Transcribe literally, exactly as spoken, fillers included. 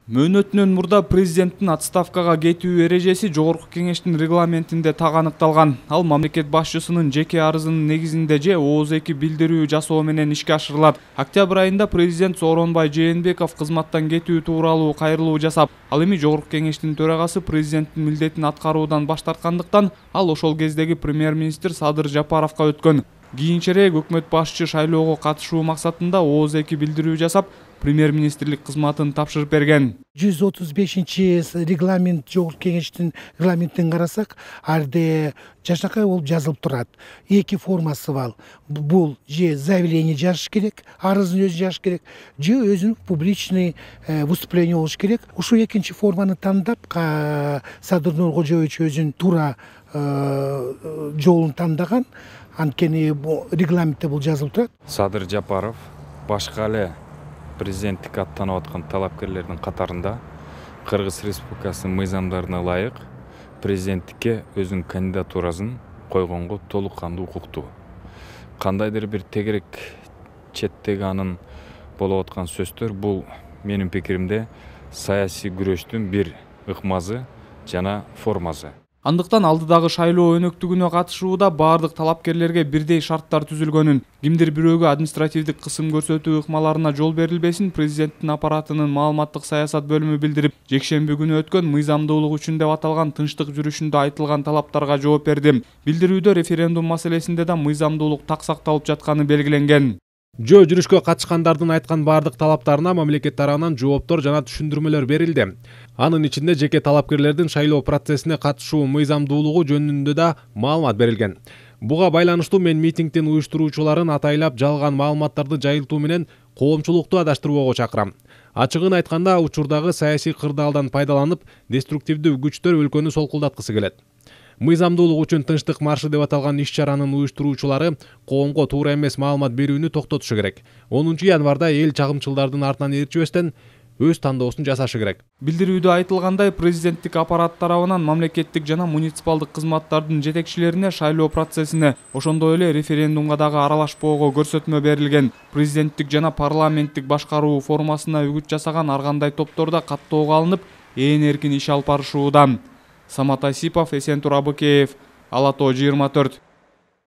Мөөнөтүнөн мурда президенттин отставкага кетүү эрежеси Жогорку Кеңештин регламентинде так аныкталган. Ал мамлекет башчысынын жеке арызынын негизинде же ооз эки билдирүү жасоо менен ишке ашырылат. Октябрь айында президент Сооронбай Жээнбеков кызматтан кетүү тууралуу кайрылуу жасап, ал эми Жогорку Кеңештин төрагасы президенттин милдетин аткаруудан баш тарткандыктан ал ошол кездеги премьер-министр Садыр Жапаровго өткөн. Кийинчерээк өкмөт башчы шайлоого катышуу максатында ооз эки билдирүү жасап, премьер-министрлик кызматын тапшырып берген. жүз отуз бешинчи регламент Жогорку Кеңештин регламентин карасак, арде жашакай болуп жазылып турат. Эки формасы бар. Бул же заявление жазыш керек, арызын өзү жазыш керек, же өзүнүн публичный выступление болуш керек. Ушул экинчи форманы тандап, Садыр Нуркожоевич өзүнүн туура жолун тандаган. Анткени регламентте бул жазылып турат. Садыр Жапаров башка эле президенттикке аттанып аткан талапкерлердин катарында Кыргыз Республикасынын мыйзамдарына ылайык президенттикке өзүнүн кандидатурасын койгонго толук кандуу укуктуу. Кандайдыр бир тегерек четтеги анын болуп аткан сөздөр бул менин пикиримде саясий күрөштүн бир ыкмазы жана формасы. Андыктан алдыдагы шайлоо өнөктүгүнө катышууда бардык талапкерлерге бирдей шарттар түзүлгөнүн, кимдир бирөөгө административдик кысым көрсөтүү ыкмаларына жол берилбесин президенттин аппаратынын маалыматтык саясат бөлүмү билдирип, жекшемби күнү өткөн мыйзамдуулук үчүн деп аталган тынчтык жүрүшүндө айтылган талаптарга жооп берди. Билдирүүдө референдум маселесинде да мыйзамдуулук так сакталып жатканы белгиленген. Жөө жүрүшкө катышкандардын айткан бардык талаптарына мамлекет тарабынан жооптор жана түшүндүрмөлөр берилди. Анын ичинде жеке талапкерлердин шайлоо процессине катышуу мыйзамдуулугу жөнүндө да маалымат берилген. Буга байланыштуу мен митингдин уюштуруучуларын атайлап жалган маалыматтарды жайылтуу менен коомчулукту адаштырбоого чакырам. Ачыгын айтканда, учурдагы саясий кырдаалдан пайдаланып, деструктивдүү күчтөр өлкөнү солкулдаткысы келет. Мыйзамдуулук үчүн тынчтык маршы деп аталган иш-чаранын уюштуруучулары коомго туура эмес маалымат берүүнү токтотушу керек. онунчу январда эл чагымчылдардын артынан ээрчибестен өз тандоосун жасашы керек. Билдирүүдө айтылгандай, президенттик аппарат тарабынан мамлекеттик жана муниципалдык кызматтардын жетекчилерине шайлоо процессине, ошондой эле референдумга дагы аралашпоого көрсөтмө берилген. Президенттик жана парламенттик башкаруу формасына үгүт жасаган ар кандай топторда каттоого алынып, ээн эркин иш алып барышууда. Самат Айсипов, Эсентур Абыкеев, Ала Тоо жыйырма төрт.